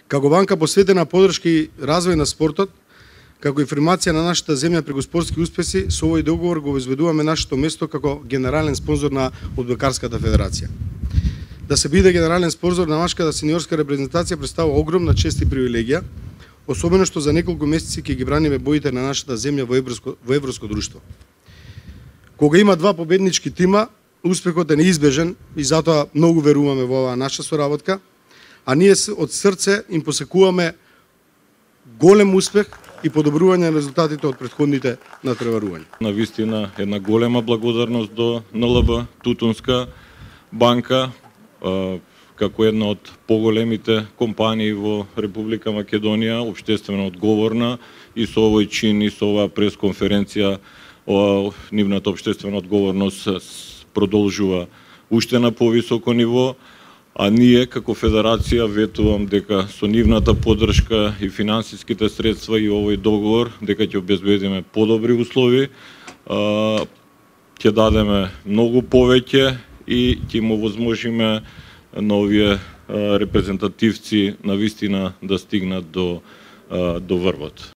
Како банка посветена поддршка и развој на спортот, како информација на нашата земја преку спортски успеси, со овој договор го обезбедуваме нашето место како генерален спонзор на Одбокарската федерација. Да се биде генерален спонзор на машката сениорска репрезентација представува огромна чест и привилегија, особено што за неколку месеци ќе ги браниме боите на нашата земја во европско друштво. Кога има два победнички тима, успехот е неизбежен и затоа многу веруваме во оваа наша соработка, а ние од срце им посекуваме голем успех и подобрување на резултатите од претходните натпреварувања. Навистина една голема благодарност до НЛБ Тутунска банка, како една од поголемите компании во Република Македонија, општествено одговорна, и со овој чин и со оваа пресконференција нивната општествена одговорност продолжува уште на повисоко ниво, а ние како федерација ветувам дека со нивната поддршка и финансиските средства и овој договор дека ќе обезбедиме подобри услови, ќе дадеме многу повеќе и ќе му овозможиме на овие репрезентативци навистина да стигнат до врвот.